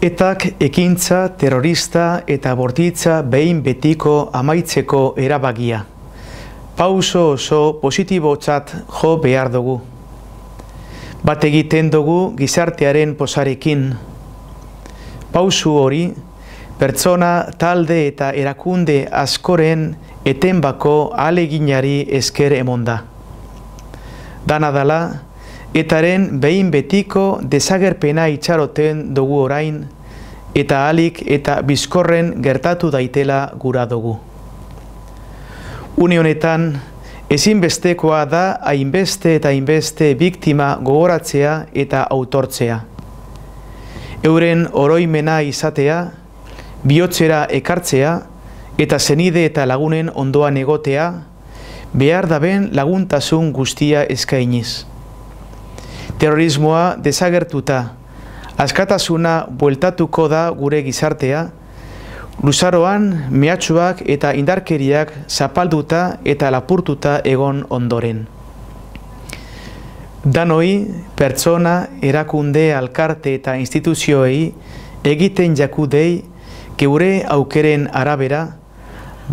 Etak ekintza terrorista eta bortitza behin betiko amaitzeko erabakia. Pauso oso positibotzat jo behar dugu. Bat egiten dugu gizartearen posarekin. Pausu hori, pertsona, talde eta erakunde askoren etenbako ahaleginari esker emonda. Dana dela, etaren behin betiko desagerpena itxaroten dugu orain, eta ahalik eta bizkorren gertatu daitela gura dugu. Une honetan, ezinbestekoa da hainbeste eta hainbeste biktima gogoratzea eta autortzea. Euren oroimena izatea, bihotzera ekartzea eta zenide eta lagunen ondoan egotea, behar daben laguntasun guztia eskainiz. Terrorismoa desagertuta, askatasuna bueltatuko da gure gizartea, luzaroan mehatxuak eta indarkeriak zapalduta eta lapurtuta egon ondoren. Danoi, pertsona, erakunde, alkarte eta instituzioei egiten jakudei geure aukeren arabera,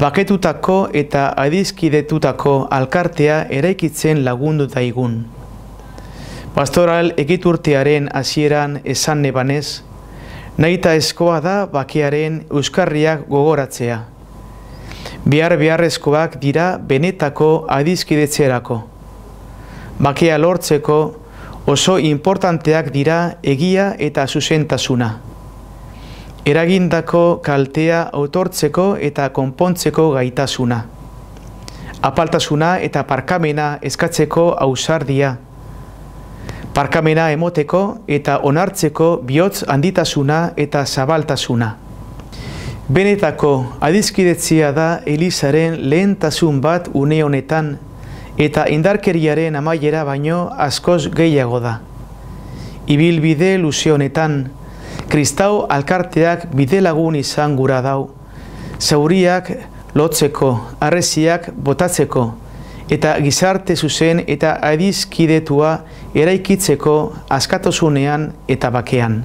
baketutako eta adizkidetutako alkartea eraikitzen lagundu daigun. Pastoral egiturtearen hasieran esan nebanez, nahita eskoa da bakearen euskarriak gogoratzea. Beharrezkoak dira benetako adizkidetzerako. Bakea lortzeko oso importanteak dira egia eta zuzentasuna. Eragindako kaltea autortzeko eta konpontzeko gaitasuna. Apaltasuna eta parkamena eskatzeko ausardia. Parkamena emoteko eta onartzeko bihotz handitasuna eta zabaltasuna. Benetako adizkidetzia da Elizaren lehentasun bat une honetan eta indarkeriaren amaiera baino askoz gehiago da. Ibilbide luze honetan, kristau alkarteak bidelagun izan gura dau, zauriak lotzeko, harresiak botatzeko, eta gizarte zuzen eta adizkidetua eraikitzeko askatasunean eta bakean.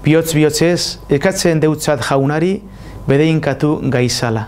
Bihotz-bihotzez, ekatzen deutzat jaunari bedeinkatu gaizala.